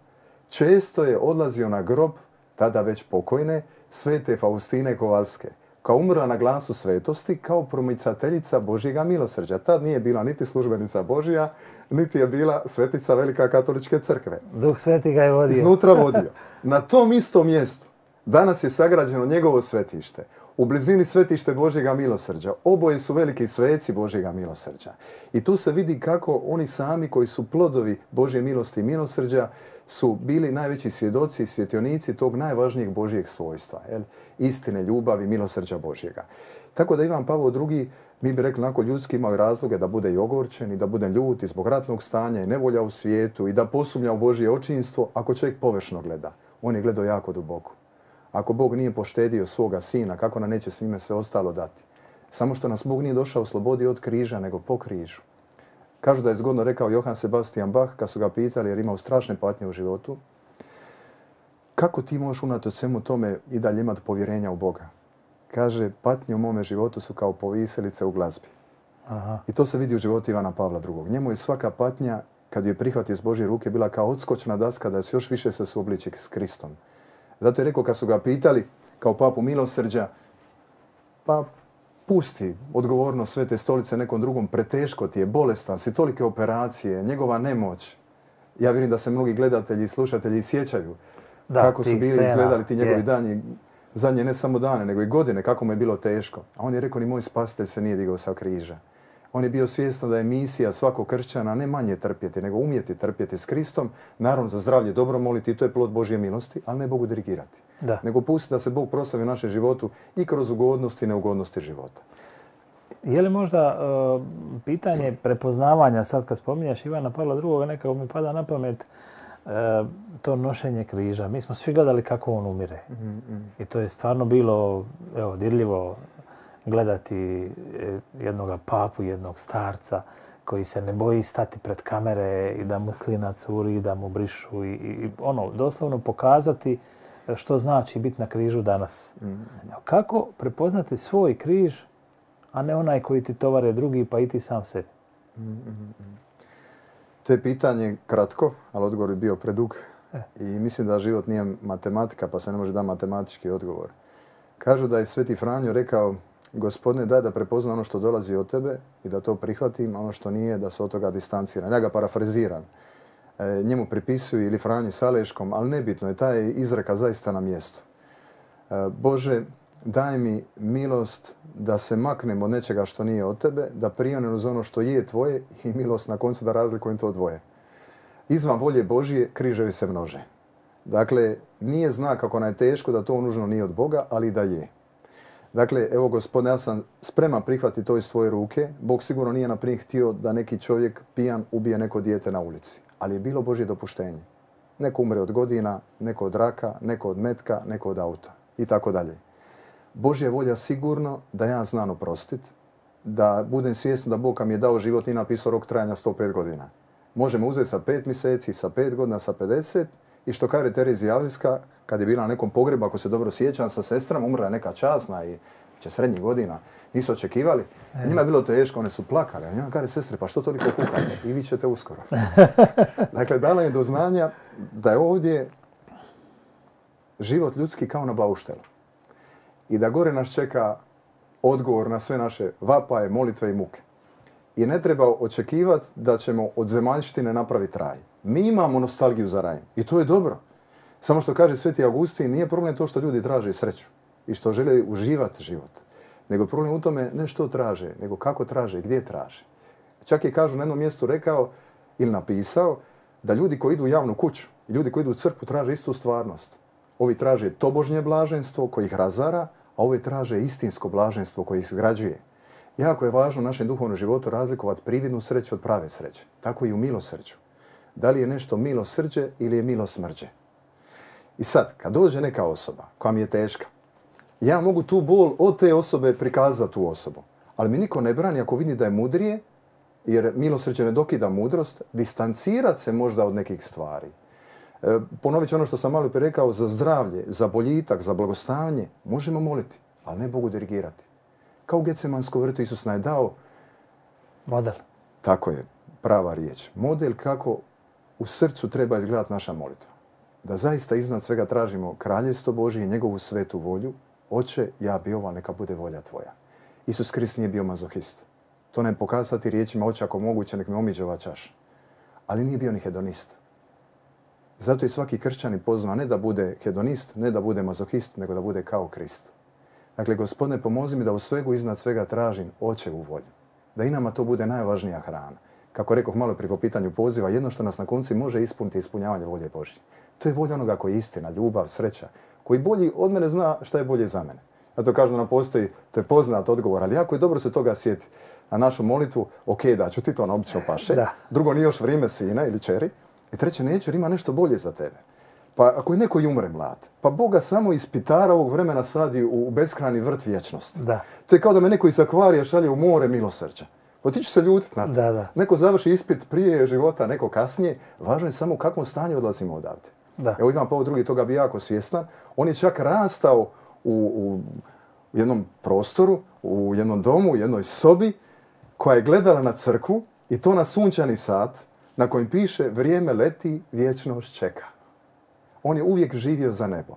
često je odlazio na grob, tada već pokojne, svete Faustine Kovalske, kao umrla na glasu svetosti, kao promicateljica Božjega milosrđa. Tad nije bila niti službenica Božja, niti je bila svetica Velika katoličke crkve. Duh Sveti ga je vodio. Iznutra vodio. Na tom istom mjestu danas je sagrađeno njegovo svetište. U blizini svetište Božjega milosrđa. Oboje su veliki sveci Božjega milosrđa. I tu se vidi kako oni sami koji su plodovi Božje milosti i milosrđa su bili najveći svjedoci i svjetionici tog najvažnijeg Božjeg svojstva. Jel? Istine, ljubavi, milosrđa Božjega. Tako da Ivan Pavao drugi, mi bi rekli onako ljudski, imao razloge da bude i ogorčen i da bude ljut i zbog ratnog stanja i nevolja u svijetu i da posumnja u Božje očinstvo ako čovjek površno gleda. On je gledao jako duboko. Ako Bog nije poštedio svoga sina, kako nam neće s njime sve ostalo dati? Samo što nas Bog nije došao u slobodi od križa, nego po križu. Kažu da je zgodno rekao Johann Sebastian Bach, kad su ga pitali jer imao strašne patnje u životu, kako ti možeš unatoč svemu tome i dalje imati povjerenja u Boga? Kaže, patnje u mome životu su kao poviselice u glazbi. Aha. I to se vidi u životu Ivana Pavla drugog. Njemu je svaka patnja, kad je prihvatio iz Božje ruke, bila kao odskočna daska da se još više se suobliči s Kristom. Zato je rekao kad su ga pitali kao papu milosrđa, pa pusti odgovornost Svete stolice nekom drugom, preteško ti je, bolestan si, tolike operacije, njegova nemoć. Ja vjerujem da se mnogi gledatelji i slušatelji sjećaju da, kako su bili scena, izgledali ti njegovi je. dani, zadnje ne samo dane, nego i godine, kako mu je bilo teško. A on je rekao, ni moj spasitelj se nije digao sa križa. On je bio svjestan da je misija svakog kršćana ne manje trpjeti, nego umjeti trpjeti s Kristom. Naravno, za zdravlje dobro moliti, i to je plod Božje milosti, ali ne Bogu dirigirati. Da. Nego pustiti da se Bog proslavi u našem životu i kroz ugodnosti i neugodnosti života. Je li možda uh, pitanje prepoznavanja, sad kad spominjaš Ivana Pavla drugoga, nekako mi pada na pamet uh, to nošenje križa. Mi smo svi gledali kako on umire. Mm-hmm. I to je stvarno bilo evo, dirljivo gledati jednog papu, jednog starca koji se ne boji stati pred kamere i da mu slina curi, da mu brišu i, i ono, doslovno pokazati što znači biti na križu danas. Mm-hmm. Kako prepoznati svoj križ, a ne onaj koji ti tovare drugi, pa i ti sam sebi? Mm-hmm. To je pitanje kratko, ali odgovor je bio predug. E. I mislim da život nije matematika, pa se ne može da matematički odgovor. Kažu da je Sveti Franjo rekao, Gospodine, daj da prepozna ono što dolazi od tebe i da to prihvatim, a ono što nije, da se od toga distanciram. Ja ga parafraziram. E, njemu pripisuju ili Franji Saleškom, ali nebitno je, taj izreka zaista na mjestu. E, Bože, daj mi milost da se maknem od nečega što nije od tebe, da prionem uz ono što je tvoje i milost na koncu da razlikujem to dvoje. Izvan volje Božije križevi se množe. Dakle, nije znak ako nam je teško da to nužno nije od Boga, ali da je. Dakle, evo Gospodine, ja sam spreman prihvatiti to iz tvoje ruke. Bog sigurno nije naprijed htio da neki čovjek pijan ubije neko dijete na ulici. Ali je bilo Božje dopuštenje. Neko umre od godina, neko od raka, neko od metka, neko od auta i tako dalje. Božja volja sigurno da ja znam oprostiti, da budem svjestan da Bog mi je dao život i napisao rok trajanja sto pet godina. Možemo uzeti sa pet mjeseci, sa pet godina, sa pedeset. I što kaže Terezija Avlijska, kad je bila na nekom pogrebu, ako se dobro sjećam, sa sestrama, umrla je neka časna i će srednjih godina, nisu očekivali. E. Njima je bilo teško, one su plakale. A njima kaže, sestre, pa što toliko kukate? I vi ćete uskoro. Dakle, dala je do znanja da je ovdje život ljudski kao na bauštelu. I da gore nas čeka odgovor na sve naše vapaje, molitve i muke. I ne treba očekivati da ćemo od zemaljštine napraviti raj. Mi imamo nostalgiju za raj i to je dobro. Samo što kaže Sveti Augustin, nije problem to što ljudi traže sreću i što žele uživati život. Nego problem u tome ne što traže, nego kako traže i gdje traže. Čak je kažu na jednom mjestu rekao ili napisao da ljudi koji idu u javnu kuću i ljudi koji idu u crkvu traže istu stvarnost. Ovi traže tobožnje blaženstvo koje ih razara, a ovi traže istinsko blaženstvo koje ih izgrađuje. Jako je važno u našem duhovnom životu razlikovati prividnu sreću od prave sreće. Tako i u milosrđu. Da li je nešto milosrđe ili je milosmrđe? I sad, kad dođe neka osoba koja mi je teška Ja mogu tu bol od te osobe prikazati tu osobu. Ali mi niko ne brani ako vidi da je mudrije, jer milosrđe ne dokida mudrost, distancirati se možda od nekih stvari. E, ponovit ću ono što sam malo prije rekao, za zdravlje, za boljitak, za blagostanje, možemo moliti, ali ne Bogu dirigirati. Kao u Getsemanskom vrtu Isus nam je dao model. Tako je, prava riječ. Model kako u srcu treba izgledati naša molitva. Da zaista iznad svega tražimo kraljevstvo Božje i njegovu svetu volju. Oče, ja bi ovo, neka bude volja tvoja. Isus Krist nije bio mazohist. To ne pokazati riječima, oče, ako moguće, nek mi omiđe ova čaša. Ali nije bio ni hedonist. Zato je svaki kršćanin pozvan ne da bude hedonist, ne da bude mazohist, nego da bude kao Krist. Dakle, Gospodine, pomozi mi da u svegu iznad svega tražim očevu volju. Da i nama to bude najvažnija hrana. Kako rekoh malo prije po pitanju poziva, jedno što nas na koncu može ispuniti ispunjavanje volje Božje. To je volja onoga koji je istina, ljubav, sreća, koji bolji od mene zna šta je bolje za mene. Zato kažu da nam postoji, to je poznat odgovor, ali jako je dobro se toga sjeti na našu molitvu. Ok, da ću ti to na obično paše. Da. Drugo, nije još vrijeme sina ili čeri. I treće, neću jer ima nešto bolje za tebe. Pa ako je neko i umre mlad, pa Boga samo ispitara ovog vremena sadi u beskrajni vrt vječnosti. Da. To je kao da me neko iz akvarija šalje u more milosrđa. Pa ti ću se ljutiti na to. Da, da. Neko završi ispit prije života, neko kasnije. Važno je samo u kakvom stanju odlazimo odavde. Da. Evo Ivan Pavao drugi toga bi jako svjestan. On je čak rastao u, u, u jednom prostoru, u jednom domu, u jednoj sobi koja je gledala na crkvu i to na sunčani sat na kojem piše vrijeme leti, vječnost čeka. On je uvijek živio za nebo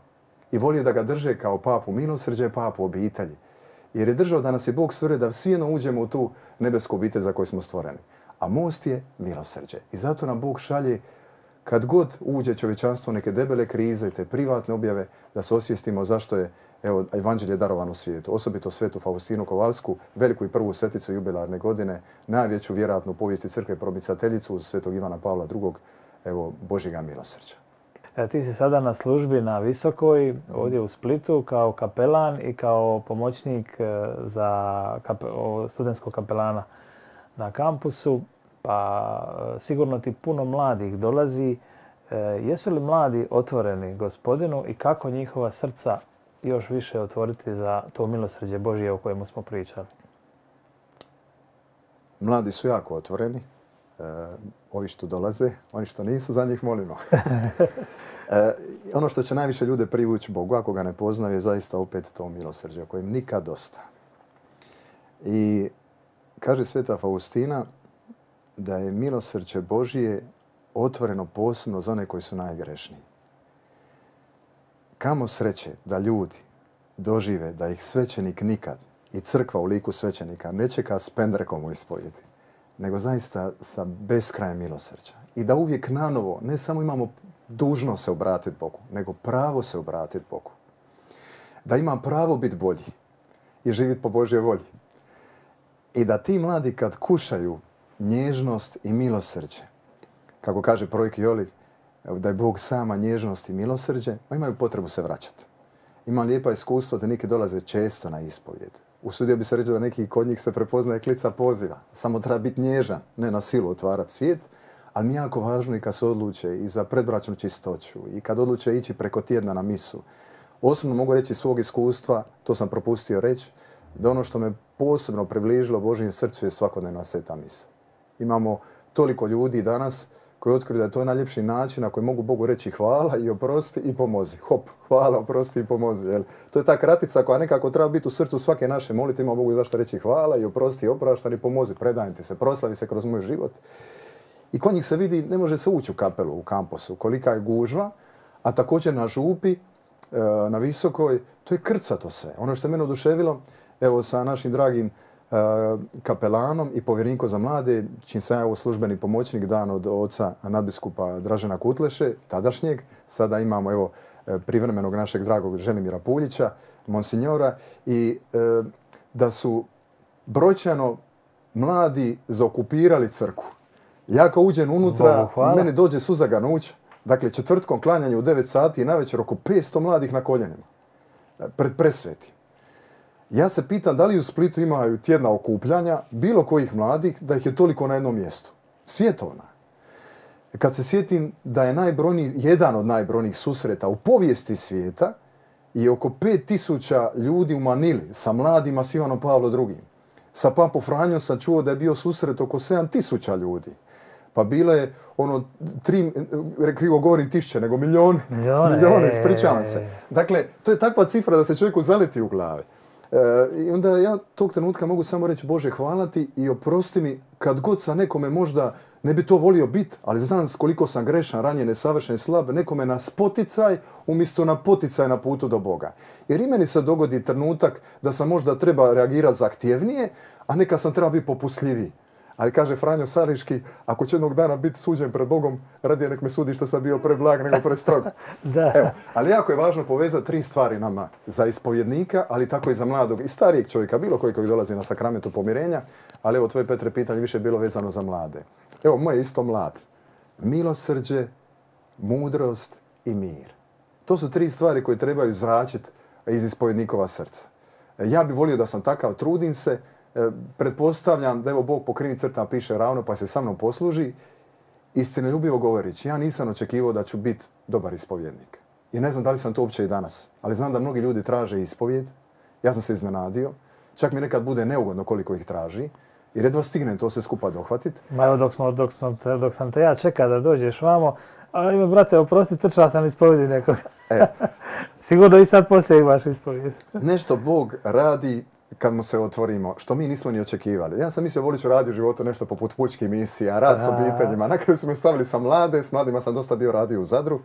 i volio da ga drže kao papu milosrđe, papu obitelji. Jer je držao da nas je Bog stvorio da svi jedno uđemo u tu nebesku obitelj za koju smo stvoreni. A most je milosrđe. I zato nam Bog šalje kad god uđe čovječanstvo neke debele krize, te privatne objave, da se osvijestimo zašto je evo, evanđelje darovano svijetu. Osobito svetu Faustinu Kovalsku, veliku i prvu sveticu jubilarne godine, najveću vjerojatno u povijesti crkve probicateljicu svetog Ivana Pavla drugog, evo, Božjega milosrđa. E, ti si sada na službi na Visokoj, ovdje u Splitu, kao kapelan i kao pomoćnik za kape, studentskog kapelana na kampusu. Pa sigurno ti puno mladih dolazi. E, jesu li mladi otvoreni Gospodinu i kako njihova srca još više otvoriti za to milosrđe Božje o kojemu smo pričali? Mladi su jako otvoreni. E, ovi što dolaze, oni što nisu, za njih molimo. e, ono što će najviše ljude privući Bogu, ako ga ne poznaju, je zaista opet to milosrđe o kojem nikad dosta. I kaže sveta Faustina da je milosrđe Božije otvoreno posebno za one koji su najgrešniji. Kamo sreće da ljudi dožive da ih svećenik nikad i crkva u liku svećenika ne čeka s pendrekom u ispovjedi, nego zaista sa beskrajem milosrđa. I da uvijek nanovo ne samo imamo dužnost se obratiti Bogu, nego pravo se obratiti Bogu. Da ima pravo biti bolji i živjeti po Božjoj volji. I da ti mladi kad kušaju nježnost i milosrđe, kako kaže Projk Joli, da je Bog sama nježnost i milosrđe, imaju potrebu se vraćati. Imam lijepa iskustva da neki dolaze često na ispovjed. Usudio bi se reći da neki kod njih se prepoznaje klica poziva. Samo treba biti nježan, ne na silu otvarati svijet, ali mi je jako važno i kad se odluče i za predbračnu čistoću i kad odluče ići preko tjedna na misu. Osobno mogu reći iz svog iskustva, to sam propustio reći, da ono što me posebno približilo Božjem srcu je svakodnevna sveta misa. Imamo toliko ljudi danas koji otkriju da je to najljepši način na koji mogu Bogu reći hvala i oprosti i pomozi. Hop, hvala, oprosti i pomozi. Jel? To je ta kratica koja nekako treba biti u srcu svake naše molitve. Ima Bogu zašto reći hvala i oprosti i opraštaj i pomozi. Predajem ti se, proslavi se kroz moj život. I kod njih se vidi, ne može se ući u kapelu, u kampusu, kolika je gužva, a također na župi, na Visokoj, to je krcato sve. Ono što je mene oduševilo, evo sa našim dragim kapelanom i povjerenikom za mlade, čim sam ja službeni pomoćnik dan od oca nadbiskupa Dražena Kutleše, tadašnjeg. Sada imamo evo privremenog našeg dragog Ženimira Puljića, monsinjora, i e, da su brojčano mladi zaokupirali crkvu. Ja kao uđem unutra, meni dođe suza ganuća. Dakle, četvrtkom klanjanje u devet sati i navečer oko petsto mladih na koljenima. Pred presveti. Ja se pitam da li u Splitu imaju tjedna okupljanja bilo kojih mladih da ih je toliko na jednom mjestu. Svjetovna. Kad se sjetim da je najbrojniji, jedan od najbrojnijih susreta u povijesti svijeta i oko pet tisuća ljudi u Manili sa mladima s Ivanom Pavlom drugim. Sa Papom Franjom sam čuo da je bio susret oko sedam tisuća ljudi. Pa bilo je ono, tri, krivo govorim tišće, nego milijone, milijone, milijone, ispričavam se. Dakle, to je takva cifra da se čovjeku zaleti u glavi. E, I onda ja tog trenutka mogu samo reći Bože hvala ti i oprosti mi kad god sa nekome možda ne bi to volio biti, ali znam koliko sam grešan, ranjen, nesavršen i slab, nekome na spoticaj umjesto na poticaj na putu do Boga. Jer i meni se dogodi trenutak da sam možda treba reagirati zahtjevnije, a neka sam treba biti popustljiviji. Ali kaže Franjo Sariški, ako će jednog dana biti suđen pred Bogom, radije nek me sudi što sam bio preblag nego prestrog. Da. Evo, ali jako je važno povezati tri stvari nama. Za ispovjednika, ali tako i za mladog i starijeg čovjeka, bilo koji koji dolazi na sakramentu pomirenja. Ali evo, tvoje, Petre, pitanje više je bilo vezano za mlade. Evo, moj je isto mlad. Milosrđe, mudrost i mir. To su tri stvari koje trebaju zračiti iz ispovjednikova srca. Ja bih volio da sam takav, trudim se. Pretpostavljam da evo Bog po krivim crtama piše ravno pa se sa mnom posluži. Istinoljubivo govoreći, ja nisam očekivao da ću biti dobar ispovjednik. I ne znam da li sam to uopće i danas. Ali znam da mnogi ljudi traže ispovjed. Ja sam se iznenadio. Čak mi nekad bude neugodno koliko ih traži. Jer jedva stignem to sve skupa dohvatiti. Ma evo dok, smo, dok, smo, dok sam te ja čekao da dođeš vamo, a ime, brate, oprosti, trčao sam ispovjedi nekoga. E. Sigurno i sad poslije imaš ispovjed. Nešto Bog radi kad mu se otvorimo, što mi nismo ni očekivali. Ja sam mislio, volit ću raditi u životu nešto poput pučkih misija, rad s obiteljima. Na kraju su me stavili sa mlade, s mladima sam dosta bio radio u Zadru,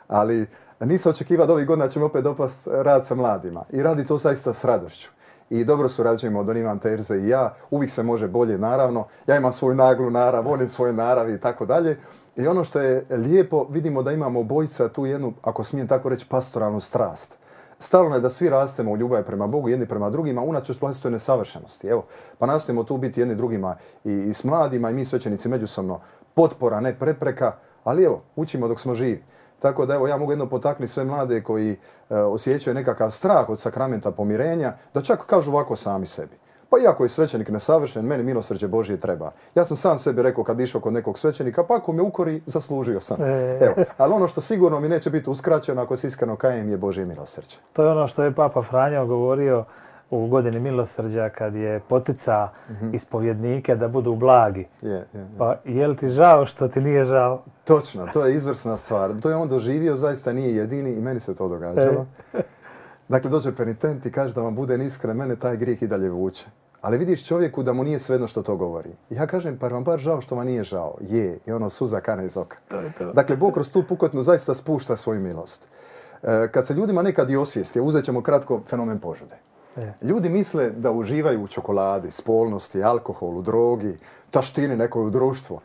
ali nisam očekivao da ovih godina će mi opet dopast rad sa mladima. I radi to zaista s radošću. I dobro surađujemo Don Ivan Terze i ja. Uvijek se može bolje, naravno. Ja imam svoju naglu narav, on je svoje naravi i tako dalje. I ono što je lijepo, vidimo da imamo obojica tu jednu, ako smijem tako reći, pastoralnu strast. Stalno je da svi rastemo u ljubavi prema Bogu, jedni prema drugima, unatoč vlastitoj nesavršenosti. Evo, pa nastojimo tu biti jedni drugima i, i s mladima i mi svećenici međusobno potpora, ne prepreka, ali evo, učimo dok smo živi. Tako da evo, ja mogu jedno potaknuti sve mlade koji e, osjećaju nekakav strah od sakramenta pomirenja, da čak kažu ovako sami sebi. Pa iako je svećenik nesavršen, meni milosrđe Božje treba. Ja sam sam sebi rekao kad bi išao kod nekog svećenika, pa ako me ukori, zaslužio sam. Evo, ali ono što sigurno mi neće biti uskraćeno ako se iskreno kajem je Božje milosrđe. To je ono što je Papa Franjo govorio u godini milosrđa kad je potica mm-hmm. ispovjednike da budu blagi. Je, je, je. Pa je li ti žao što ti nije žao? Točno, to je izvrsna stvar. To je on doživio, zaista nije jedini i meni se to događalo. Dakle, dođe penitent i kaže da vam bude iskren, mene taj grijeh i dalje vuče. Ali vidiš čovjeku da mu nije svejedno što to govori. Ja kažem, pa vam bar žao što vam nije žao. Je, i ono suza kane iz oka. To je to. Dakle, Bog kroz tu pukotnu zaista spušta svoju milost. E, kad se ljudima nekad i osvijesti, uzet ćemo kratko fenomen požude. E. Ljudi misle da uživaju u čokoladi, spolnosti, alkoholu, drogi, taštini nekoj u društvu.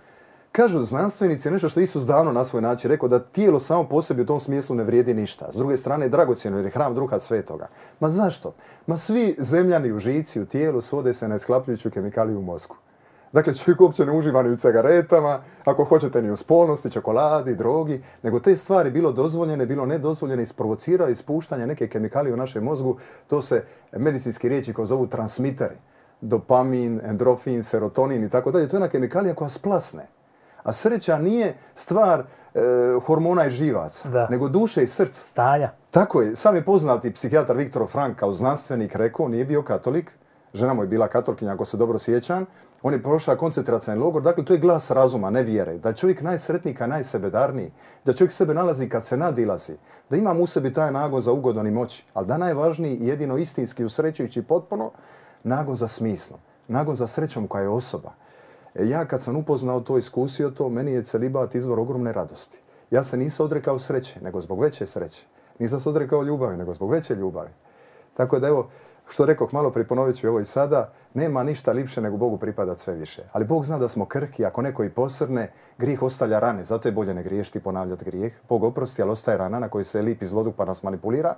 Kažu znanstvenici nešto što Isus davno na svoj način rekao da tijelo samo po sebi u tom smislu ne vrijedi ništa. S druge strane je dragocjeno jer je hram Duha Svetoga. Ma zašto? Ma svi zemljani užici u tijelu svode se na isklapljujuću kemikaliju u mozgu. Dakle, čovjek uopće ne uživa ni u cigaretama, ako hoćete ni u spolnosti, čokoladi, drogi, nego te stvari bilo dozvoljene, bilo nedozvoljene, isprovociraju ispuštanje neke kemikalije u našem mozgu. To se medicinski riječi kao zovu transmiteri. Dopamin, endorfin, serotonin i tako dalje. To je jedna kemikalija koja splasne. A sreća nije stvar e, hormona i živaca, da. Nego duše i srca. Stanja. Tako je. Sam je poznati psihijatar Viktor Frank kao znanstvenik rekao, nije bio katolik, žena mu je bila katolkinja ako se dobro sjećam, on je prošao koncentracioni logor, dakle to je glas razuma, ne vjere. Da je čovjek najsretniji, najsebedarniji, da čovjek sebe nalazi kad se nadilazi, da ima u sebi taj nagon za ugodan i moći, ali da najvažniji i jedino istinski usrećujući potpuno, nagon za smislom, nagon za srećom koja je osoba. Ja kad sam upoznao to, iskusio to, meni je celibat izvor ogromne radosti. Ja se nisam odrekao sreće, nego zbog veće sreće. Nisam se odrekao ljubavi, nego zbog veće ljubavi. Tako da evo, što rekoh malo prije, ponovit ću ovo i sada, nema ništa lipše nego Bogu pripadat sve više. Ali Bog zna da smo krhki, ako neko i posrne, grijeh ostavlja rane, zato je bolje ne griješiti i ponavljati grijeh. Bog oprosti, ali ostaje rana na kojoj se lipi zloduh pa nas manipulira.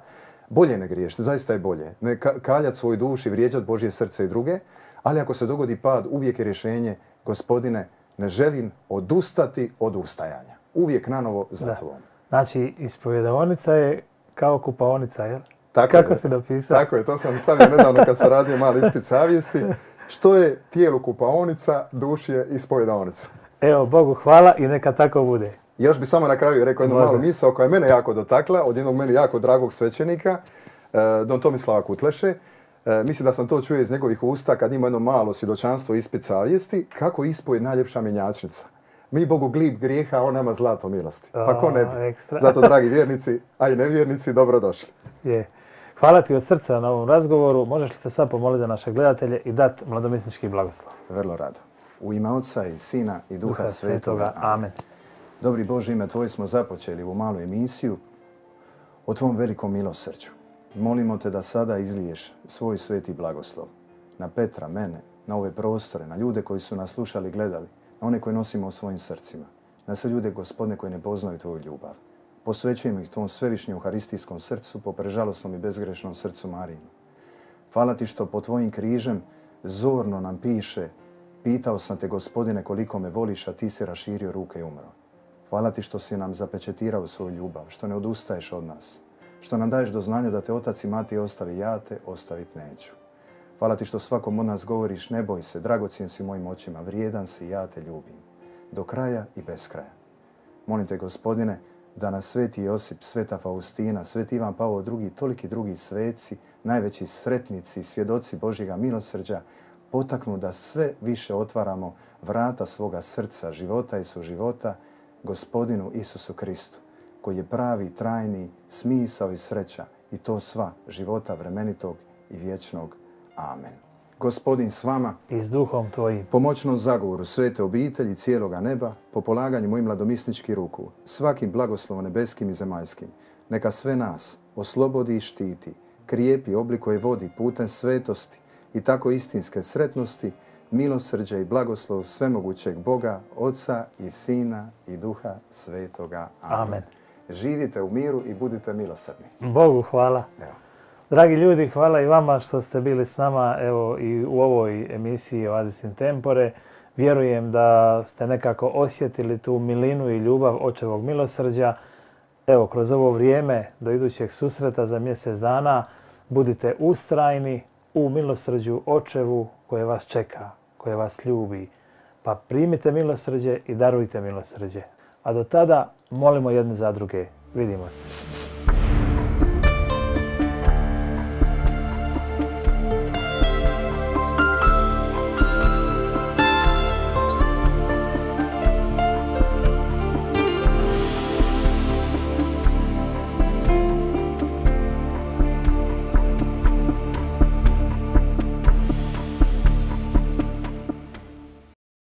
Bolje ne griješiti, zaista je bolje. Ne kaljati svoju dušu i vrijeđati Božje srce i druge, ali ako se dogodi pad, uvijek je rješenje, Gospodine, ne želim odustati od ustajanja. Uvijek nanovo za tobom. Znači, ispovjedaonica je kao kupaonica, jel? Tako Kako je. si napisao? Tako je, to sam stavio nedavno kad sam radio mali ispit savjesti. Što je tijelu kupaonica, duši je ispovjedaonica. Evo, Bogu hvala i neka tako bude. Još bi samo na kraju rekao jednu malu misao koja je mene jako dotakla, od jednog meni jako dragog svećenika. don Tomislava Kutleše. Mislim da sam to čuo iz njegovih usta kad ima jedno malo svjedočanstvo ispit savjesti, kako ispoje najljepša mjenjačnica. Mi Bogu glib grijeha, a on nama zlato milosti. Pa ko ne bi? Zato, dragi vjernici, a i nevjernici, dobrodošli. Je. Hvala ti od srca na ovom razgovoru. Možeš li se sad pomoliti za naše gledatelje i dati mladomisnički blagoslov? Vrlo rado. U ime Otca i Sina i Duha, Duha Svetoga. Amen. Dobri Bože, ime Tvoje smo započeli u malu emisiju o Tvom velikom milosrđu. Molimo Te da sada izliješ svoj sveti blagoslov na Petra, mene, na ove prostore, na ljude koji su nas slušali i gledali, na one koje nosimo u svojim srcima, na sve ljude, Gospodine, koji ne poznaju Tvoju ljubav. Posvećujemo ih Tvom svevišnjem euharistijskom srcu, po prežalosnom i bezgrešnom srcu Marijinu. Hvala Ti što po Tvojim križem zorno nam piše: pitao sam Te, Gospodine, koliko me voliš, a Ti si raširio ruke i umro. Hvala Ti što si nam zapečetirao svoju ljubav, što ne odustaješ od nas, što nam daješ do znanja da Te otac i mati ostavi, ja Te ostavit neću. Hvala Ti što svakom od nas govoriš: ne boj se, dragocjen si mojim očima, vrijedan si, ja Te ljubim, do kraja i bez kraja. Molim Te, Gospodine, da nas sveti Josip, sveta Faustina, sveti Ivan Pavao drugi, toliki drugi sveci, najveći sretnici, svjedoci Božjega milosrđa, potaknu da sve više otvaramo vrata svoga srca, života i suživota Gospodinu Isusu Kristu, koji je pravi, trajni smisao i sreća, i to sva života vremenitog i vječnog. Amen. Gospodin s vama i s duhom Tvojim. Pomoćnom zagovoru svete obitelji cijeloga neba, po polaganju mojim mladomisničkih ruku, svakim blagoslovom nebeskim i zemaljskim, neka sve nas oslobodi i štiti, krijepi, oblikuje, vodi putem svetosti i tako istinske sretnosti, milosrđa i blagoslov svemogućeg Boga, Oca i Sina i Duha Svetoga. Amen. Amen. Živite u miru i budite milosrdni. Bogu hvala. Evo. Dragi ljudi, hvala i vama što ste bili s nama evo, i u ovoj emisiji Oasis in Tempore. Vjerujem da ste nekako osjetili tu milinu i ljubav očevog milosrđa. Evo, kroz ovo vrijeme do idućeg susreta za mjesec dana budite ustrajni u milosrđu očevu koje vas čeka, koje vas ljubi. Pa primite milosrđe i darujte milosrđe. A do tada molimo jedni za druge. Vidimo se.